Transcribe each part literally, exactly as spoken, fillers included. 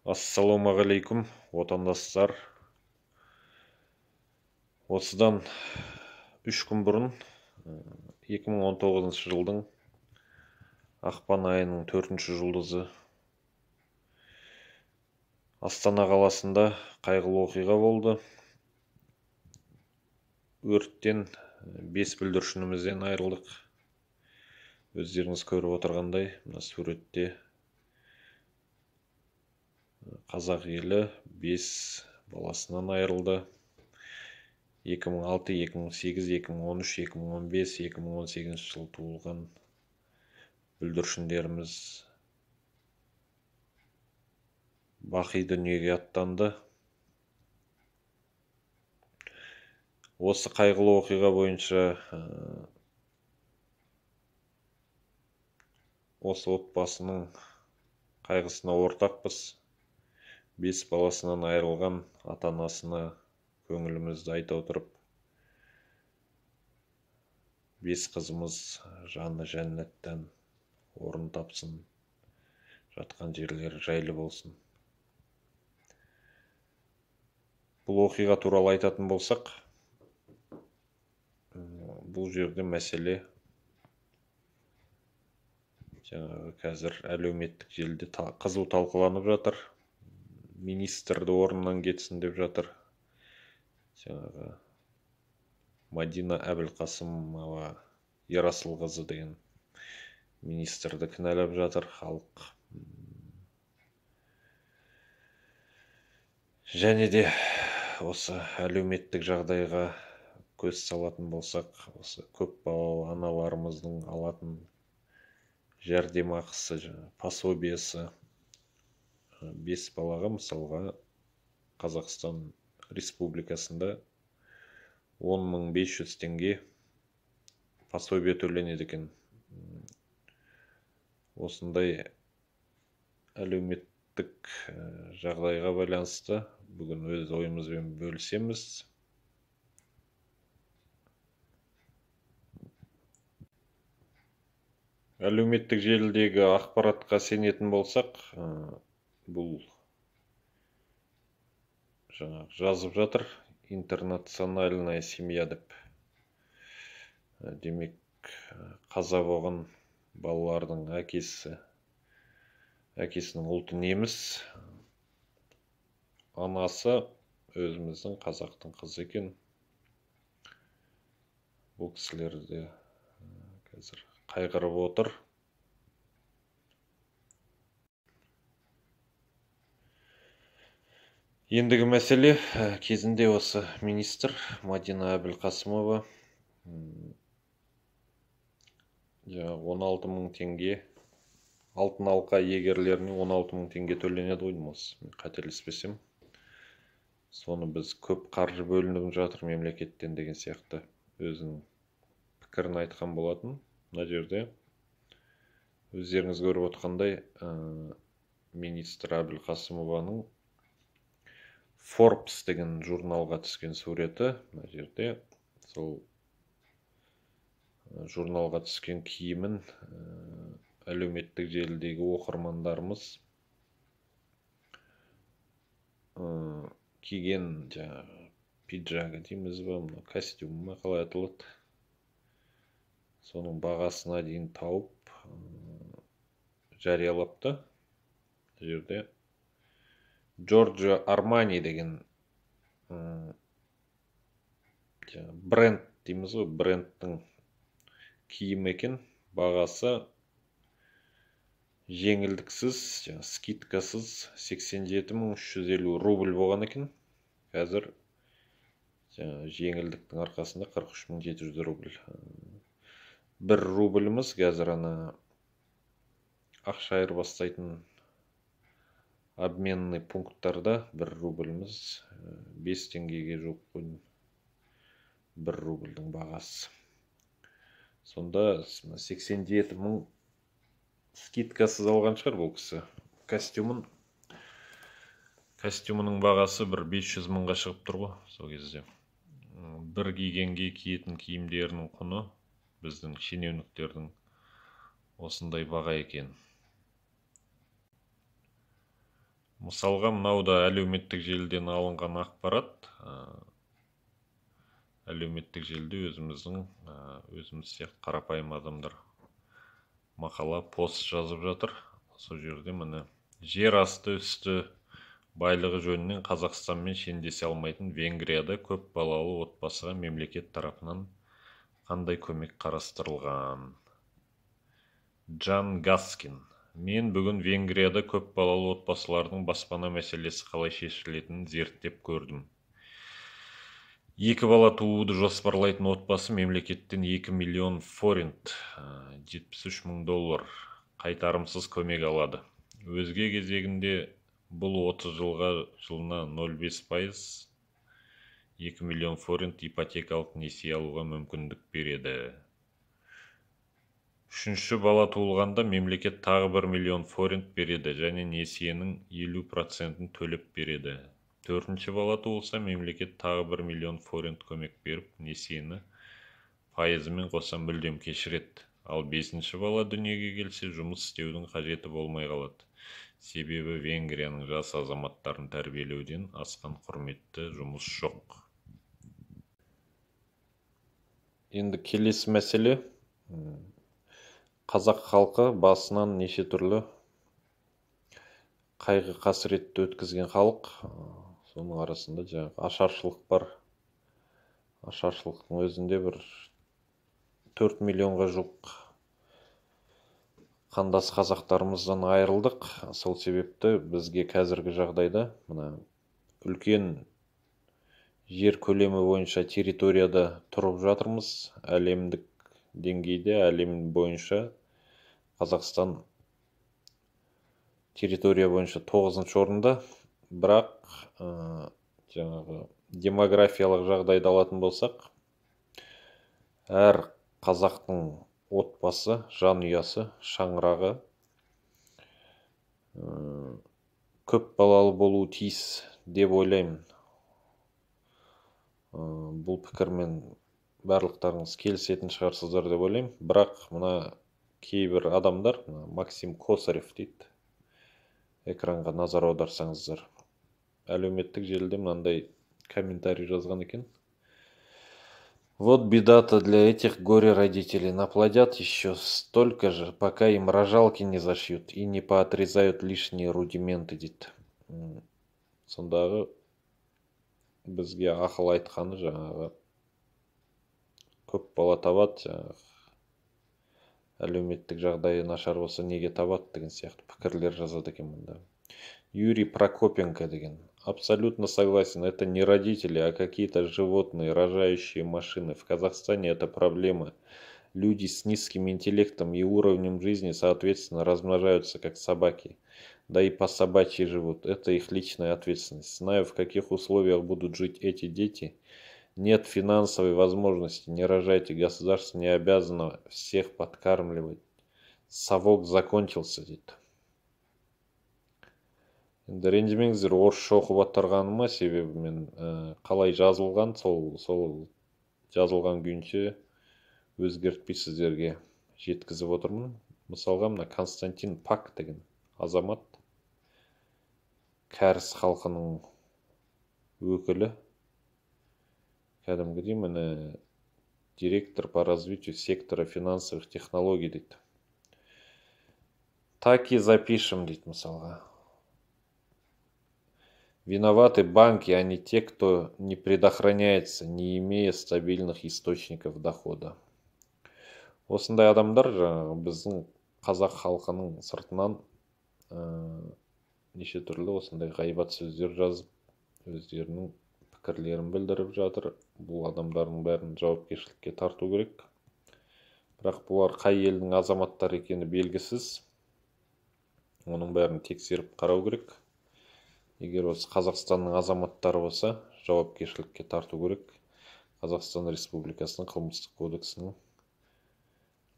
Ассалаумағалейкум, отандастар. Осыдан үш күн бұрын, екі мың он тоғызыншы жылдың ақпан айының төртінші жұлдызы Астана қаласында қайғылы оқиға болды. Өрттен бес бүлдіршінімізден айырылдық. Өздеріңіз көріп отырғандай, мына суретте қазақ елі бес баласынан айырылды. екі мың алты, екі мың сегіз, екі мың он үш, екі мың он бес, екі мың он сегізінші жыл туылған бүлдіршіндеріміз бақи дүниеге аттанды. Осы қайғылы оқиға бойынша осы отбасының қайғысына ортақпыз. Бес баласынан айырылған ата-анасына көңілімізді айта отырып, бес қызымыз жаны жәннаттан орын тапсын, жатқан жерлері жайлы болсын. Бұл оқиға туралы айтатын болсақ, бұл жерде мәселе жаңағы қазір әлеуметтік желіде қызу талқыланып жатыр. Министрді орнынан кетсін деп жатыр. Жаңағы Мадина Әбілқасымова Ерасылқызы деген министрді кінәлап жатыр халық. Және де осы әлеуметтік жағдайға көз салатын болсақ, осы көп балалы аналарымыздың алатын жәрдемақысы, пособиесі бес балаға мысалға Қазақстан Республикасында он мың бес жүз теңге пособие төленеді екен. Осындай әлеуметтік жағдайға байланысты бүгін өз ойымызбен бөлісеміз. Әлеуметтік желідегі ақпаратқа сенетін болсақ, бұл жаңағы жазып жатыр, интернациональная семья деп. Демек, қаза болған балалардың әкесі, әкесінің ұлты неміс, анасы өзіміздің қазақтың қызы екен. Бұл кісілерді қазір қайғырып отыр. Ендігі мәселе, кезінде осы министр Мадина Әбілқасымова он алты мың теңге, алтын алқа егерлеріне он алты мың теңге төленеді ғой, мен қателеспесем. Соны біз көп қаржы бөлініп жатыр мемлекеттен деген сияқты өзінің пікірін айтқан болатын. Мына жерде өздеріңіз көріп отқандай, министр Әбілқасымованың Forbes деген журналға түскен суреті. Мына жерде сол журналға түскен киімін әлеуметтік желідегі оқырмандарымыз киген жаңағы пиджагы дейміз ба, костюм ма қалай аталады, соның бағасына дейін тауып жариялапты. Жерде Джорджо Армани деген бренд дейміз ғой, брендтің киім екен. Бағасы жеңілдіксіз, скидкасыз сексен жеті мың үш жүз елу рубль болған екен. Қазір жеңілдіктің арқасында қырық үш мың жеті жүз рубль. Бір рубліміз қазір ана ақша айырбастайтын обменный пункттарда бір рубліміз бес теңгеге жоқ қойын, бір рубльдің бағасы. Сонда сексен жеті мың скидкасыз алған шығар бұл кісі. Костюмын, костюмының бағасы бір бес жүз мыңға шығып тұр ғой сол кезде. Бір кигенге киетін киімдерінің құны біздің шенеуніктердің осындай баға екен. Мысалға, мынау да әлеуметтік желіден алынған ақпарат. Әлеуметтік желіде өзіміздің, өзіміз сияқты қарапайым адамдар мақала, пост жазып жатыр. Сол жерде міне жер асты үсті байлығы жөнінен Қазақстанмен шендесе алмайтын Венгрияда көп балалы отбасыға мемлекет тарапынан қандай көмек қарастырылған? Джан Гаскин. Мен бүгін Венгрияда көп балалы отбасылардың баспана мәселесі қалай шешілетінін зерттеп көрдім. Екі бала тууды жоспарлайтын отбасы мемлекеттен екі миллион форинт, жетпіс үш мың доллар қайтарымсыз көмек алады. Өзге кезегінде бұл отыз жылға жылына нөл бүтін бес пайыз екі миллион форинт ипотекалық несие алуға мүмкіндік береді. Үшінші бала туылғанда мемлекет тағы бір миллион форинт береді және несиенің елу процентін төлеп береді. Төртінші бала туылса, мемлекет тағы бір миллион форинт көмек беріп, несиені пайызымен қоса мүлдем кешіреді. Ал бесінші бала дүниеге келсе, жұмыс істеудің қажеті болмай қалады. Себебі Венгрияның жас азаматтарын тәрбиелеуден асқан құрметті жұмыс жоқ. Енді келесі мәселе. Қазақ халқы басынан неше түрлі қайғы қасіретті өткізген халық. Соның арасында жаңағы ашаршылық бар. Ашаршылықтың өзінде бір төрт миллионға жуық қандас қазақтарымыздан айырылдық. Сол себепті бізге қазіргі жағдайда мына үлкен жер көлемі бойынша территорияда тұрып жатырмыз. Әлемдік деңгейде, әлем бойынша Қазақстан территория бойынша тоғызыншы орында. Бірақ жаңағы демографиялық жағдайды алатын болсақ, әр қазақтың отбасы, жанұясы, шаңырағы көп балалы болуы тиіс деп ойлаймын. Бұл пікірмен барлықтарыңыз келісетін шығарсыздар деп ойлаймын. Бірақ мына кейбір адамдар, Максим Косарев дейді, экранға назар аударсаңыздар, әлеуметтік желіде мынандай комментарий жазған екен. Вот беда-то для этих горе-родителей. Наплодят еще столько же, пока им рожалки не зашьют и не поотрезают лишние рудименты, дейді. Сондағы бізге ақыл айтқаны жаңағы көп бала табады, жаңағы әлеуметтік жағдайы нашар болса неге табады деген сияқты пікірлер жазады екен мұнда. Юрий Прокопенко деген. Абсолютно согласен, это не родители, а какие-то животные, рожающие машины. В Казахстане это проблема. Люди с низким интеллектом и уровнем жизни, соответственно, размножаются как собаки. Да и по собачьи живут. Это их личная ответственность. Знаю, в каких условиях будут жить эти дети. Нет финансовой возможности, не рожайте, государство не обязано всех подкармливать. Совок закончился, дейді. Енді ренжімеңіздер, орысша оқып отырғаныма, себебі мен қалай жазылған, сол, сол жазылған күйінше өзгертпей сіздерге жеткізіп отырмын. Мысалға, мына Константин Пак деген азамат, кәріс халқының өкілі, кәдімгідей міне директор по развитию сектора финансовых технологий дейді. Так и запишем, дейді мысалға. Виноваты банки, а не те, кто не предохраняется, не имея стабильных источников дохода. Осындай адамдар жаңағы біздің қазақ халқының сыртынан неше түрлі осындай ғайбат сөздер жазып, өздерінің пікірлерін білдіріп жатыр. Бұл адамдардың бәрін жауапкершілікке тарту керек. Бірақ бұлар қай елдің азаматтары екені белгісіз. Оның бәрін тексеріп қарау керек. Егер осы Қазақстанның азаматтары болса, жауапкершілікке тарту керек. Қазақстан Республикасының қылмыстық кодексінің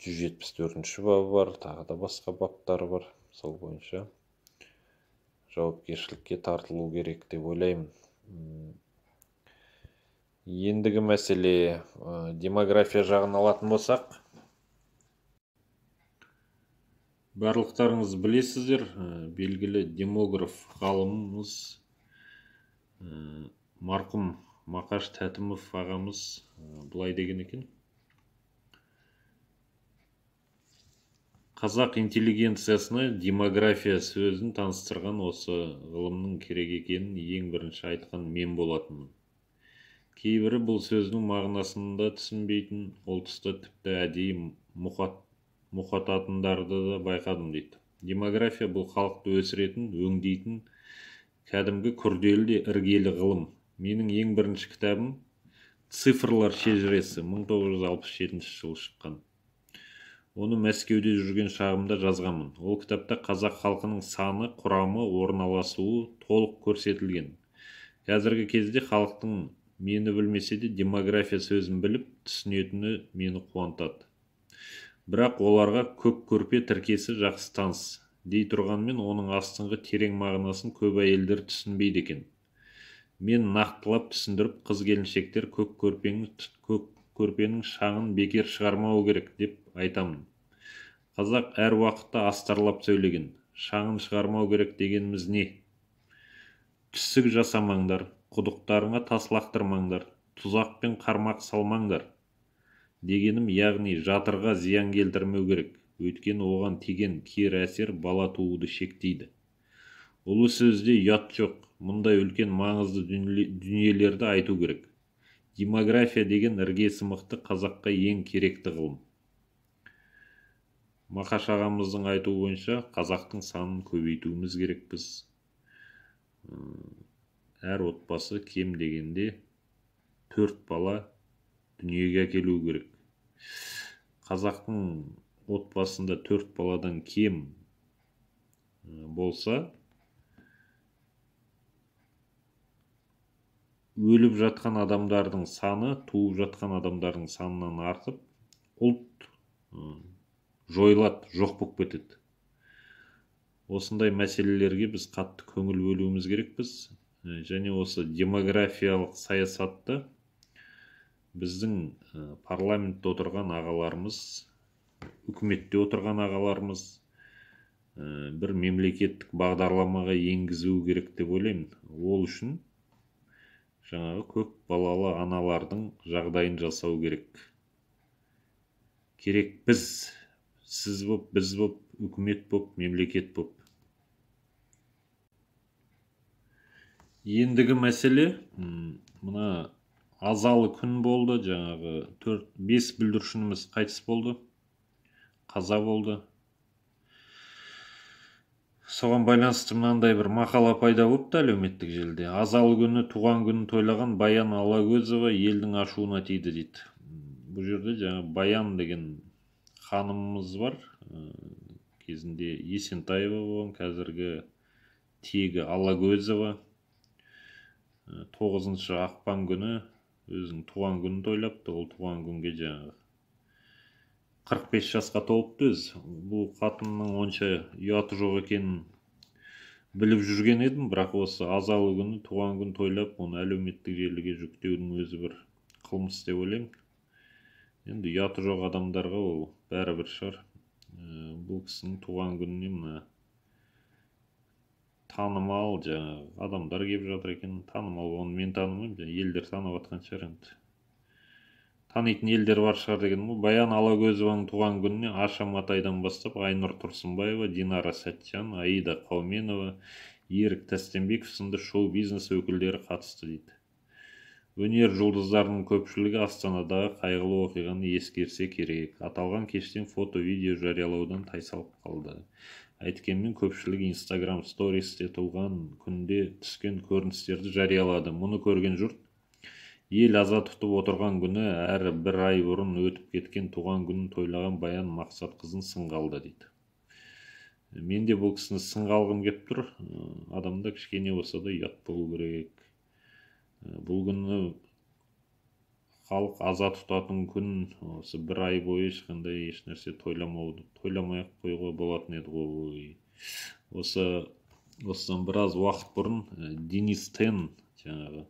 жүз жетпіс төртінші бабы бар, тағы да басқа баптары бар. Сол бойынша жауапкершілікке тартылу керек деп ойлаймын. Ендігі мәселе демография жағын алатын болсақ, Барлықтарыңыз білесіздер, белгілі демограф ғалымымыз марқұм Мақаш Тәтімов ағамыз былай деген екен: қазақ интеллигенциясына демография сөзін таныстырған осы ғылымның керек екенін ең бірінші айтқан мен болатынмын. Кейбірі бұл сөздің мағынасын да түсінбейтін, ол тұста тіпті әдейі мұқат мұқататындарды да байқадым дейді. Демография бұл халықты өсіретін, өңдейтін, кәдімгі күрделі де іргелі ғылым. Менің ең бірінші кітабым «Цифрлар шежіресі» мың тоғыз жүз алпыс жетінші жылы шыққан. Оны Мәскеуде жүрген шағымда жазғанмын. Ол кітапта қазақ халқының саны, құрамы, орналасуы толық көрсетілген. Қазіргі кезде халықтың мені білмесе де демография сөзін біліп түсінетіні мені қуантады. Бірақ оларға көк көрпе тіркесі жақсы таныс дей тұрғанмен, оның астыңғы терең мағынасын көп әйелдер түсінбейді екен. Мен нақтылап түсіндіріп, қыз келіншектер көк көрпенің, көк көрпенің шаңын бекер шығармау керек деп айтамын. Қазақ әр уақытта астарлап сөйлеген. Шаңын шығармау керек дегеніміз не? Түсік жасамаңдар, құдықтарыңа тас лақтырмаңдар, тұзақ пен қармақ салмаңдар дегенім, яғни жатырға зиян келтірмеу керек. Өйткені оған тиген кері әсер бала тууды шектейді. Ұлы сөзде ұят жоқ. Мұндай үлкен маңызды дүниелерді айту керек. Демография деген іргесі мықты қазаққа ең керекті ғылым. Мақаш ағамыздың айтуы бойынша қазақтың санын көбейтуіміз керекпіз. Әр отбасы кем дегенде төрт бала дүниеге әкелу керек. Қазақтың отбасында төрт баладан кем болса, өліп жатқан адамдардың саны туып жатқан адамдардың санынан артып, ұлт жойылады, жоқ болып кетеді. Осындай мәселелерге біз қатты көңіл бөлуіміз керекпіз. Және осы демографиялық саясатты біздің парламентте отырған ағаларымыз, үкіметте отырған ағаларымыз бір мемлекеттік бағдарламаға енгізу керек деп ойлаймын. Ол үшін жаңағы көп балалы аналардың жағдайын жасау керек. Керек біз, сіз боп, біз боп, үкімет боп, мемлекет боп. Ендігі мәселе, мына азалы күн болды, жаңағы төрт бес бүлдіршініміз қайтыс болды, қаза болды. Соған байланысты мынандай бір мақала пайда болыпты әлеуметтік желіде. Азалы күні туған күнін тойлаған Баян Алагөзова елдің ашуына тиді дейді. Бұл жерде жаңа Баян деген ханымымыз бар. Кезінде Есентаева болған, қазіргі тегі Алагөзова. тоғызыншы ақпан күні өзінің туған күнін тойлапты. Ол туған күнге жаңағы қырық бес жасқа толыпты өз. Бұл қатынның онша ұяты жоқ екенін біліп жүрген едім, бірақ осы азалы күні туған күн тойлап, оны әлеуметтік желіге жүктеудің өзі бір қылмыс деп ойлаймын. Енді ұяты жоқ адамдарға ол бәрібір шығар. Бұл кісінің туған күніне мына танымал жаңағы адамдар келіп жатыр екен. Танымал, оны мен танымаймын, елдер танып жатқан шығар енді. Танитын елдер бар шығар деген. Бұл Баян Алагөзованың туған күніне Аша Матайдан бастап Айнұр Тұрсынбаева, Динара Сәтжан, Аида Қауменова, Ерік Тәстенбеков сынды шоу-бизнес өкілдері қатысты дейді. Өнер жұлдыздарының көпшілігі Астанадағы қайғылы оқиғаны ескерсе керек. Аталған кештен фото-видео жариялаудан тайсалып қалды. Әйткенмен көпшілік Instagram стористе туған күнде түскен көріністерді жариялады. Мұны көрген жұрт ел аза тұтып отырған күні әрі бір ай бұрын өтіп кеткен туған күнін тойлаған Баян Мақсатқызын сынға алды дейді. Мен де бұл кісіні сынға алғым келіп тұр. Адамда кішкене болса да ұят болу керек. Бұл күні халық аза тұтатын күн, осы бір ай бойы ешқандай ешнәрсе тойламауды, тойламай-ақ қоюға болатын еді ғой. Осы осыдан біраз уақыт бұрын Денис Тен, жаңағы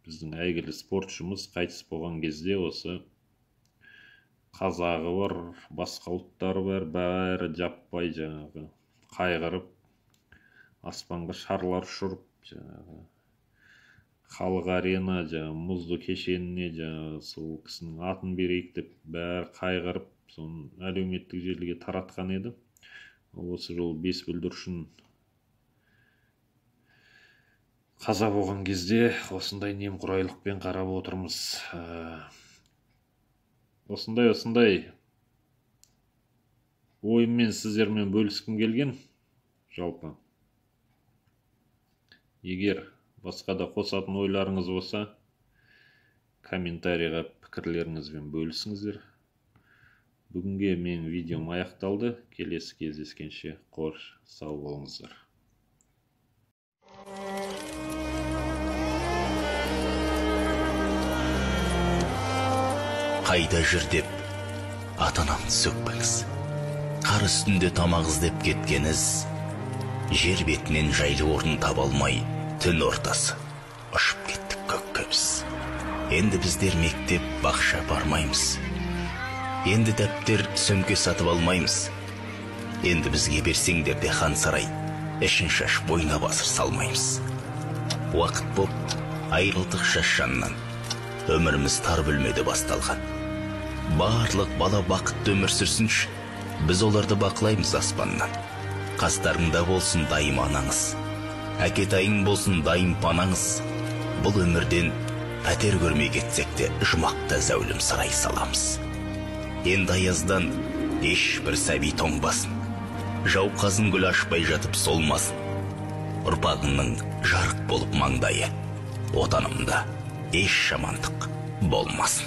біздің әйгілі спортшымыз қайтыс болған кезде осы қазағы бар, басқа ұлттары бар, бәрі жаппай жаңағы қайғырып, аспанға шарлар ұшырып, жаңағы халық арена, жаңағы мұзды кешеніне жаңағы сол кісінің атын берейік деп бәрі қайғырып, соны әлеуметтік желіге таратқан еді. Осы жолы бес бүлдіршін қаза болған кезде осындай немқұрайлықпен қарап отырмыз. Осындай осындай ойыммен сіздермен бөліскім келген. Жалпы егер басқа да қосатын ойларыңыз болса, комментарийға пікірлеріңізбен бөлісіңіздер. Бүгінге менің видеом аяқталды. Келесі кездескенше қош сау болыңыздар. Қайда жүр деп ата-анамды сөкпеңіз. Қар үстінде тамақ іздеп кеткеніз, жер бетінен жайлы орын таба алмай, түн ортасы ұшып кеттік көкке біз. Енді біздер мектеп, бақша бармаймыз. Енді дәптер, сөмке сатып алмаймыз. Енді бізге берсеңдер де хан сарай, ішін шаш бойына басыр салмаймыз. Уақыт боп, айрылдық шашшаннан, өміріміз тар бөлмеде басталған. Барлық бала бақытты өмір сүрсінші, біз оларды бақылаймыз аспаннан. Қастарыңда болсын дайым анаңыз, әкетайың болсын дайым панаңыз. Бұл өмірден пәтер көрмей кетсек те жұмақта зәулім сарай саламыз. Енді аяздан еш бір сәби тоңбасын, жауқазын гүл ашпай жатып солмасын. Ұрпағыңның жарық болып маңдайы, отанымда еш жамандық болмасын.